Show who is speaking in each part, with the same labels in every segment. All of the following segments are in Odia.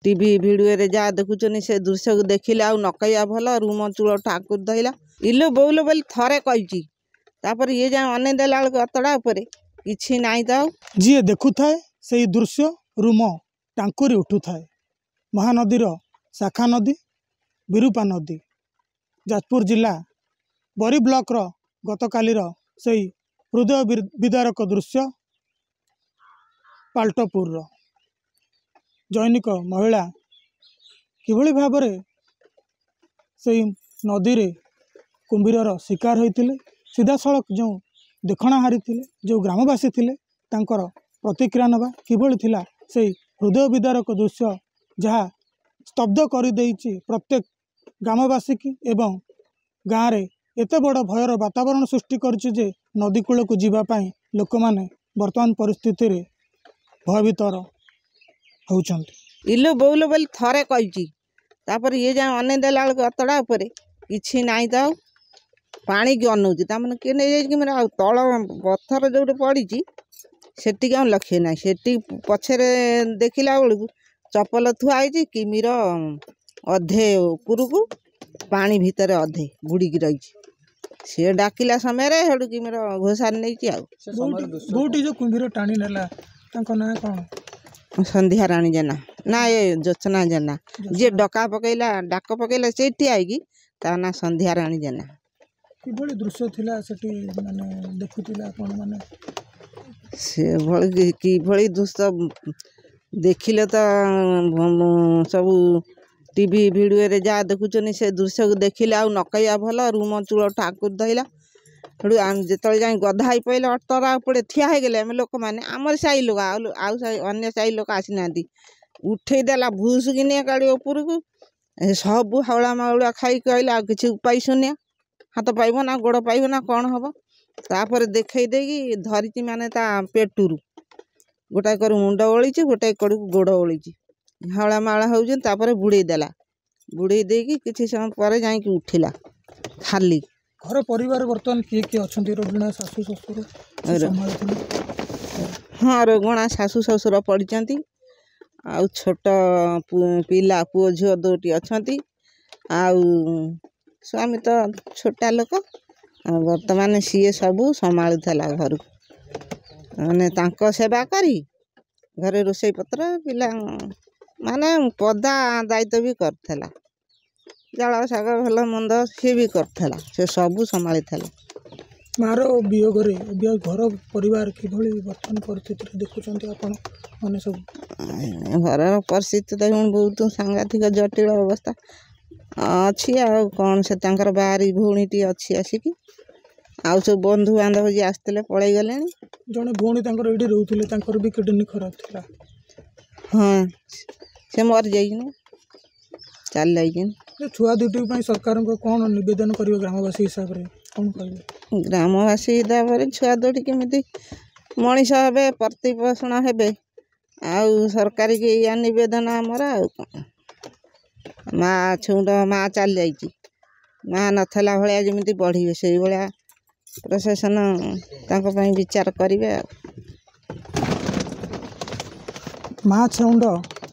Speaker 1: ଟିଭି ଭିଡ଼ିଓରେ ଯାହା ଦେଖୁଛନ୍ତି, ସେ ଦୃଶ୍ୟକୁ ଦେଖିଲେ ଆଉ ନ କହିବା ଭଲ। ରୁମ ଚୂଳ ଠାକୁର ଧଇଲା। ଇଲୋ ବୋଉଲୋ ବୋଲି ଥରେ କହିଛି। ତାପରେ ଇଏ ଯାଇ ଅନେଇ ଦେଲା ବେଳକୁ ଅତଡ଼ା ଉପରେ କିଛି ନାହିଁ ତ ଆଉ।
Speaker 2: ଯିଏ ଦେଖୁଥାଏ ସେଇ ଦୃଶ୍ୟ ରୁମ ଟାଙ୍କୁରି ଉଠୁଥାଏ। ମହାନଦୀର ଶାଖା ନଦୀ ବିରୂପା ନଦୀ, ଯାଜପୁର ଜିଲ୍ଲା ବରୀ ବ୍ଲକର ଗତକାଲିର ସେଇ ହୃଦୟ ବିଦାରକ ଦୃଶ୍ୟ। ପାଲଟପୁରର ଜନୈକ ମହିଳା କିଭଳି ଭାବରେ ସେଇ ନଦୀରେ କୁମ୍ଭୀରର ଶିକାର ହୋଇଥିଲେ, ସିଧାସଳଖ ଯେଉଁ ଦେଖଣାହାରୀ ଥିଲେ, ଯେଉଁ ଗ୍ରାମବାସୀ ଥିଲେ, ତାଙ୍କର ପ୍ରତିକ୍ରିୟା ନେବା। କିଭଳି ଥିଲା ସେଇ ହୃଦୟ ବିଦାରକ ଦୃଶ୍ୟ, ଯାହା ସ୍ତବ୍ଧ କରିଦେଇଛି ପ୍ରତ୍ୟେକ ଗ୍ରାମବାସୀକି ଏବଂ ଗାଁରେ ଏତେ ବଡ଼ ଭୟର ବାତାବରଣ ସୃଷ୍ଟି କରିଛି ଯେ ନଦୀ କୂଳକୁ ଯିବା ପାଇଁ ଲୋକମାନେ ବର୍ତ୍ତମାନ ପରିସ୍ଥିତିରେ ଭୟଭୀତର ହେଉଛନ୍ତି।
Speaker 1: ଇଲୋ ବୋଉଲୋ ବୋଲି ଥରେ କହିଛି। ତାପରେ ଇଏ ଯାଇ ଅନେଇ ଦେଲା ବେଳକୁ ଅତଡ଼ା ଉପରେ କିଛି ନାହିଁ ତ ଆଉ। ପାଣିକି ଅନଉଛି, ତାମାନେ କିଏ ନେଇଯାଇଛି କି? ଆଉ ତଳ ପଥର ଯେଉଁଠି ପଡ଼ିଛି ସେଠିକି ଆଉ ଲକ୍ଷ୍ୟ ନାହିଁ। ସେଠି ପଛରେ ଦେଖିଲା ବେଳକୁ ଚପଲ ଥୁଆ ହେଇଛି। କିମିର ଅଧେ ଉପରକୁ ପାଣି ଭିତରେ ଅଧେ ବୁଡ଼ିକି ରହିଛି। ସିଏ ଡାକିଲା ସମୟରେ ସେଠୁ କିମିର ଘୋଷାରି ନେଇଛି। ଆଉ
Speaker 2: ବୋଉଟି ଯେଉଁ କୁମ୍ଭୀର ଟାଣି ନେଲା, ତାଙ୍କ ନାଁ କ'ଣ?
Speaker 1: ସନ୍ଧ୍ୟା ରାଣୀ ଜେନା ନା ଏ ଜ୍ୟୋତ୍ସ୍ନା ଜେନା। ଯିଏ ଡକା ପକେଇଲା, ଡାକ ପକେଇଲା ସେଇଠି ଆଇକି, ତା ନାଁ ସନ୍ଧ୍ୟା ରାଣୀ ଜେନା।
Speaker 2: କିଭଳି ଦୃଶ୍ୟ ଥିଲା ସେଠି, ମାନେ ଦେଖୁଥିଲେ ଆପଣ ମାନେ?
Speaker 1: ସେଭଳି କିଭଳି ଦୃଶ୍ୟ ଦେଖିଲେ ତ ସବୁ ଟିଭି ଭିଡ଼ିଓରେ ଯାହା ଦେଖୁଛନ୍ତି, ସେ ଦୃଶ୍ୟକୁ ଦେଖିଲେ ଆଉ ନ କହିବା ଭଲ। ରୁମ ଚୂଳ ଠାକୁର ଧଇଲା। ସେଠୁ ଆମେ ଯେତେବେଳେ ଯାଇ ଗଧା ହେଇ ପଇଲେ, ଅତଡ଼ା ଉପରେ ଠିଆ ହେଇଗଲେ ଆମେ ଲୋକମାନେ, ଆମର ସାହି ଲୋକ, ଆଉ ସାହି ଅନ୍ୟ ସାହି ଲୋକ ଆସିନାହାନ୍ତି। ଉଠେଇ ଦେଲା ଭୁସୁକିନି ଗାଡ଼ି ଉପରକୁ। ସବୁ ହାଉଳା ମାଉଳା ଖାଇ କହିଲେ ଆଉ କିଛି ଉପାୟ ଶୂନ୍ୟ, ହାତ ପାଇବ ନା ଗୋଡ଼ ପାଇବ ନା କ'ଣ ହବ। ତାପରେ ଦେଖେଇ ଦେଇକି ଧରିଛି, ମାନେ ତା ପେଟରୁ ଗୋଟାଏ କରୁ ମୁଣ୍ଡ ଓଳିଛି, ଗୋଟାଏ କଡ଼କୁ ଗୋଡ଼ ଓଳିଛି, ହାଉଳା ମାଉଳା ହେଉଛନ୍ତି। ତାପରେ ବୁଡ଼େଇ ଦେଲା। ବୁଡ଼େଇ ଦେଇକି କିଛି ସମୟ ପରେ ଯାଇକି ଉଠିଲା ଖାଲି।
Speaker 2: ଘର ପରିବାର ବର୍ତ୍ତମାନ କିଏ କିଏ ଅଛନ୍ତି? ରୋଗିଣା ଶାଶୁ ଶ୍ୱଶୁର ସମ୍ଭାଳୁଥିଲେ?
Speaker 1: ହଁ, ରୋଗଣା ଶାଶୁ ଶ୍ୱଶୁର ପଡ଼ିଛନ୍ତି, ଆଉ ଛୋଟ ପିଲା ପୁଅ ଝିଅ ଦୁଇଟି ଅଛନ୍ତି, ଆଉ ସ୍ୱାମୀ ତ ଛୋଟା ଲୋକ। ଆଉ ବର୍ତ୍ତମାନ ସିଏ ସବୁ ସମ୍ଭାଳୁଥିଲା ଘରକୁ, ମାନେ ତାଙ୍କ ସେବା କରି ଘରେ ରୋଷେଇ ପତ୍ର, ପିଲା ମାନେ ପଦା ଦାୟିତ୍ୱ ବି କରୁଥିଲା, ଜାଳ ଶାଗ ଭଲ ମନ୍ଦ ସିଏ ବି କରୁଥିଲା, ସେ ସବୁ ସମ୍ଭାଳିଥିଲା।
Speaker 2: ମାର ବିୟୋଗରେ ଏବେ ଘର ପରିବାର କିଭଳି ବର୍ତ୍ତମାନ ପରିସ୍ଥିତିରେ ଦେଖୁଛନ୍ତି ଆପଣ ମାନେ ସବୁ?
Speaker 1: ଘରର ପରିସ୍ଥିତି ତ ବହୁତ ସାଂଘାତିକ ଜଟିଳ ଅବସ୍ଥା ଅଛି, ଆଉ କ'ଣ। ସେ ତାଙ୍କର ବାହାରି ଭଉଣୀଟି ଅଛି ଆସିକି, ଆଉ ସବୁ ବନ୍ଧୁବାନ୍ଧବ ଯିଏ ଆସିଥିଲେ ପଳେଇ ଗଲେଣି।
Speaker 2: ଜଣେ ଭଉଣୀ ତାଙ୍କର ଏଇଠି ରହୁଥିଲେ, ତାଙ୍କର ବି କିଡ଼ନୀ ଖରାପ ଥିଲା।
Speaker 1: ହଁ, ସେ ମରିଯାଇଛନ୍ତି, ଚାଲି ଯାଇଛନ୍ତି।
Speaker 2: ଛୁଆ ଦୁଇଟି ପାଇଁ ସରକାରଙ୍କୁ କ'ଣ ନିବେଦନ କରିବେ ଗ୍ରାମବାସୀ ହିସାବରେ, କ'ଣ କହିବେ?
Speaker 1: ଗ୍ରାମବାସୀ ହିସାବରେ ଛୁଆ ଦୁଇଟି କେମିତି ମଣିଷ ହେବେ, ପ୍ରତିପୋଷଣ ହେବେ, ଆଉ ସରକାରୀକି ଏଇଆ ନିବେଦନ ଆମର, ଆଉ କ'ଣ। ମା ଛୁଉଁଟ ମା ଚାଲି ଯାଇଛି, ମା ନଥିଲା ଭଳିଆ ଯେମିତି ବଢ଼ିବେ, ସେଇଭଳିଆ ପ୍ରଶାସନ ତାଙ୍କ ପାଇଁ ବିଚାର କରିବେ। ଆଉ
Speaker 2: ମା ଛେଉଣ୍ଡ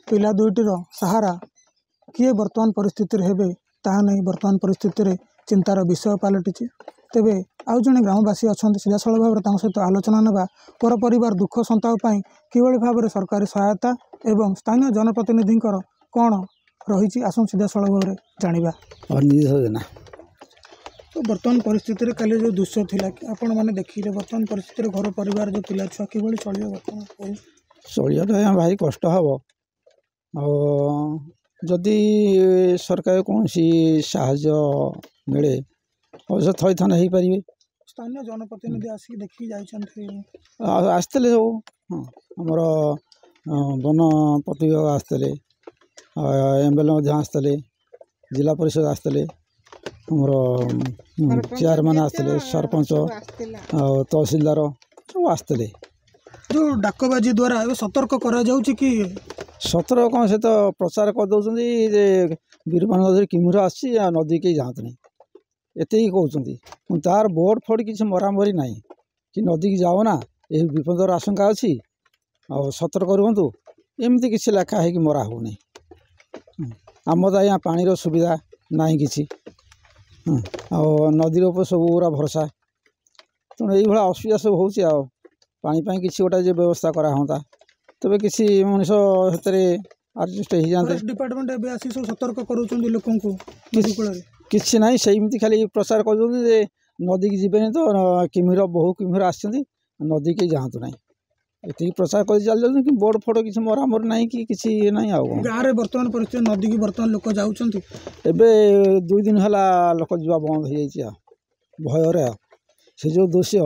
Speaker 2: ପିଲା ଦୁଇଟିର ସାହାରା କିଏ ବର୍ତ୍ତମାନ ପରିସ୍ଥିତିରେ ହେବେ, ତାହା ନେଇ ବର୍ତ୍ତମାନ ପରିସ୍ଥିତିରେ ଚିନ୍ତାର ବିଷୟ ପାଲଟିଛି। ତେବେ ଆଉ ଜଣେ ଗ୍ରାମବାସୀ ଅଛନ୍ତି, ସିଧାସଳଖ ଭାବରେ ତାଙ୍କ ସହିତ ଆଲୋଚନା ନେବା। ପର ପରିବାର ଦୁଃଖ ସନ୍ତାପ ପାଇଁ କିଭଳି ଭାବରେ ସରକାରୀ ସହାୟତା ଏବଂ ସ୍ଥାନୀୟ ଜନପ୍ରତିନିଧିଙ୍କର କ'ଣ ରହିଛି, ଆସନ୍ତୁ ସିଧାସଳଖ ଭାବରେ ଜାଣିବା।
Speaker 3: ଜେନା।
Speaker 2: ତ ବର୍ତ୍ତମାନ ପରିସ୍ଥିତିରେ କାଲି ଯେଉଁ ଦୃଶ୍ୟ ଥିଲା ଆପଣମାନେ ଦେଖିଲେ, ବର୍ତ୍ତମାନ ପରିସ୍ଥିତିରେ ଘର ପରିବାର ଯେଉଁ ପିଲା ଛୁଆ କିଭଳି ଚଳିବ ବର୍ତ୍ତମାନ?
Speaker 3: ଚଳିବାଟା ଆଜ୍ଞା ଭାରି କଷ୍ଟ ହେବ। ଆଉ ଯଦି ସରକାର କୌଣସି ସାହାଯ୍ୟ ମିଳେ, ଅବଶ୍ୟ ଥଇଥାନ ହେଇପାରିବେ।
Speaker 2: ସ୍ଥାନୀୟ ଜନପ୍ରତିନିଧି ଆସିକି ଦେଖିକି ଯାଇଛନ୍ତି?
Speaker 3: ଆଉ ଆସିଥିଲେ ସବୁ। ହଁ, ଆମର ବନ ପ୍ରତିବିଭାଗ ଆସିଥିଲେ, ଏମ୍ ଏଲ୍ ଏ ମଧ୍ୟ ଆସିଥିଲେ, ଜିଲ୍ଲା ପରିଷଦ ଆସିଥିଲେ, ଆମର ଚେୟାରମ୍ୟାନ୍ ଆସିଥିଲେ, ସରପଞ୍ଚ ଆଉ ତହସିଲଦାର ସବୁ ଆସିଥିଲେ।
Speaker 2: ଯେଉଁ ଡାକବାଜି ଦ୍ୱାରା ଏବେ ସତର୍କ କରାଯାଉଛି କି?
Speaker 3: ସତର୍କ କ'ଣ, ସେ ତ ପ୍ରଚାର କରିଦେଉଛନ୍ତି ଯେ ବିରୂପା ନଦୀରେ କୁମ୍ଭୀର ଆସିଛି ଆଉ ନଦୀ କେହି ଯାଆନ୍ତୁନି, ଏତିକି କହୁଛନ୍ତି। ତାର ବୋର୍ଡ଼ ଫୋର୍ଡ଼ କିଛି ମରାମରି ନାହିଁ କି ନଦୀକି ଯାଅ ନା, ଏହି ବିପଦର ଆଶଙ୍କା ଅଛି ଆଉ ସତର୍କ ରୁହନ୍ତୁ, ଏମିତି କିଛି ଲେଖା ହେଇକି ମରା ହେଉନି। ଆମର ତ ଆଜ୍ଞା ପାଣିର ସୁବିଧା ନାହିଁ କିଛି, ଆଉ ନଦୀର ଉପରେ ସବୁ ଗୁଡ଼ା ଭରସା। ତେଣୁ ଏଇଭଳିଆ ଅସୁବିଧା ସବୁ ହେଉଛି। ଆଉ ପାଣି ପାଇଁ କିଛି ଗୋଟେ ଯେ ବ୍ୟବସ୍ଥା କରାହୁଅନ୍ତା, ତେବେ କିଛି ମଣିଷ ସେଥିରେ ଆଡ଼ଜଷ୍ଟ ହେଇଯାଆନ୍ତେ।
Speaker 2: ଡିପାର୍ଟମେଣ୍ଟ ଏବେ ଆସି ସବୁ ସତର୍କ କରୁଛନ୍ତି ଲୋକଙ୍କୁ ନଦୀ କୂଳରେ?
Speaker 3: କିଛି ନାହିଁ, ସେମିତି ଖାଲି ପ୍ରଚାର କରୁଛନ୍ତି ଯେ ନଦୀକି ଯିବେନି ତ, କୁମ୍ଭୀର ବହୁ କୁମ୍ଭୀର ଆସିଛନ୍ତି, ନଦୀକି ଯାଆନ୍ତୁ ନାହିଁ, ଏତିକି ପ୍ରଚାର କରି ଚାଲି ଯାଉଛନ୍ତି। କିନ୍ତୁ ବୋର୍ଡ଼ ଫୋଡ଼ କିଛି ମରାମରି ନାହିଁ କି କିଛି ଇଏ ନାହିଁ। ଆଉ କ'ଣ
Speaker 2: ଗାଁରେ ବର୍ତ୍ତମାନ ପରିସ୍ଥିତି, ନଦୀକି ବର୍ତ୍ତମାନ ଲୋକ ଯାଉଛନ୍ତି?
Speaker 3: ଏବେ 2 ଦିନ ହେଲା ଲୋକ ଯିବା ବନ୍ଦ ହେଇଯାଇଛି ଆଉ ଭୟରେ। ଆଉ ସେ ଯେଉଁ ଦୃଶ୍ୟ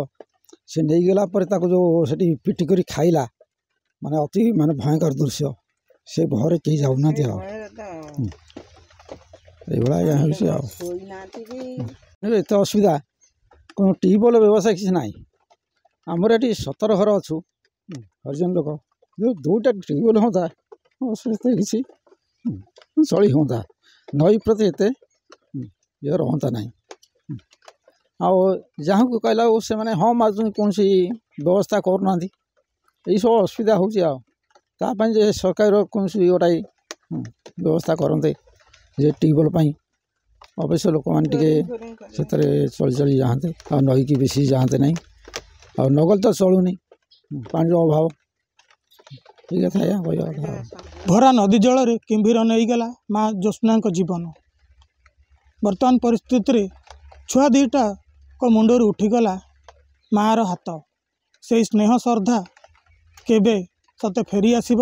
Speaker 3: ସେ ନେଇଗଲା ପରେ ତାକୁ ଯେଉଁ ସେଠି ପିଟି କରି ଖାଇଲା, ମାନେ ଅତି ମାନେ ଭୟଙ୍କର ଦୃଶ୍ୟ, ସେ ଭୟରେ କେହି ଯାଉନାହାନ୍ତି। ଆଉ ଏଇଭଳିଆ ଆଜ୍ଞା ହେଉଛି। ଆଉ ଏତେ ଅସୁବିଧା, କ'ଣ ଟ୍ୟୁବୱେଲ୍ ବ୍ୟବସ୍ଥା କିଛି ନାହିଁ। ଆମର ଏଠି 17 ଘର ଅଛୁ ହରିଜନ ଲୋକ, ଯେଉଁ 2ଟା ଟ୍ୟୁବୱେଲ୍ ହୁଅନ୍ତା ଅସୁବିଧା କିଛି ଚଳି ହୁଅନ୍ତା, ନଈ ପ୍ରତି ଏତେ ଇଏ ରହନ୍ତା ନାହିଁ। ଆଉ ଯାହାକୁ କହିଲା ସେମାନେ ହଁ ମାରୁଛନ୍ତି, କୌଣସି ବ୍ୟବସ୍ଥା କରୁନାହାନ୍ତି। ଏଇସବୁ ଅସୁବିଧା ହେଉଛି। ଆଉ ତା ପାଇଁ ଯେ ସରକାର କୌଣସି ଗୋଟାଏ ବ୍ୟବସ୍ଥା କରନ୍ତେ ଯେ ଟ୍ୟୁବୱେଲ୍ ପାଇଁ, ଅବଶ୍ୟ ଲୋକମାନେ ଟିକେ ସେଥିରେ ଚଳି ଚଳି ଯାଆନ୍ତେ, ଆଉ ନଈକି ବେଶୀ ଯାଆନ୍ତେ ନାହିଁ। ଆଉ ନଗଲେ ତ ଚଳୁନି, ପାଣିର ଅଭାବ। ଠିକ୍ କଥା ଆଜ୍ଞା କହିବା କଥା।
Speaker 2: ଭରା ନଦୀ ଜଳରେ କୁମ୍ଭୀର ନେଇଗଲା ମା ଜ୍ୟୋତ୍ସ୍ନାଙ୍କ ଜୀବନ। ବର୍ତ୍ତମାନ ପରିସ୍ଥିତିରେ ଛୁଆ ଦୁଇଟାଙ୍କ ମୁଣ୍ଡରୁ ଉଠିଗଲା ମାଆର ହାତ। ସେଇ ସ୍ନେହ ଶ୍ରଦ୍ଧା କେବେ ସତେ ଫେରି ଆସିବ,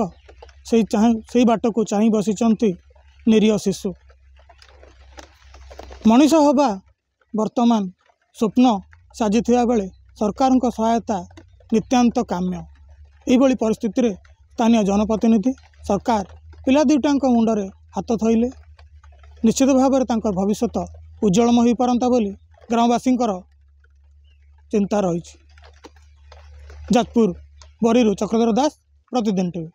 Speaker 2: ସେଇ ବାଟକୁ ଚାହିଁ ବସିଛନ୍ତି ନିରୀହ ଶିଶୁ। ମଣିଷ ହେବା ବର୍ତ୍ତମାନ ସ୍ୱପ୍ନ ସାଜିଥିବା ବେଳେ ସରକାରଙ୍କ ସହାୟତା ନିତ୍ୟାନ୍ତ କାମ୍ୟ। ଏଇଭଳି ପରିସ୍ଥିତିରେ ସ୍ଥାନୀୟ ଜନପ୍ରତିନିଧି, ସରକାର ପିଲା ଦୁଇଟାଙ୍କ ମୁଣ୍ଡରେ ହାତ ଥୋଇଲେ ନିଶ୍ଚିତ ଭାବରେ ତାଙ୍କର ଭବିଷ୍ୟତ ଉଜ୍ଜଳମୟ ହୋଇପାରନ୍ତା ବୋଲି ଗ୍ରାମବାସୀଙ୍କର ଚିନ୍ତା ରହିଛି। ଯାଜପୁର ବରୀରୁ ଚକ୍ରଧର ଦାସ, ପ୍ରତିଦିନ ଟିଭି।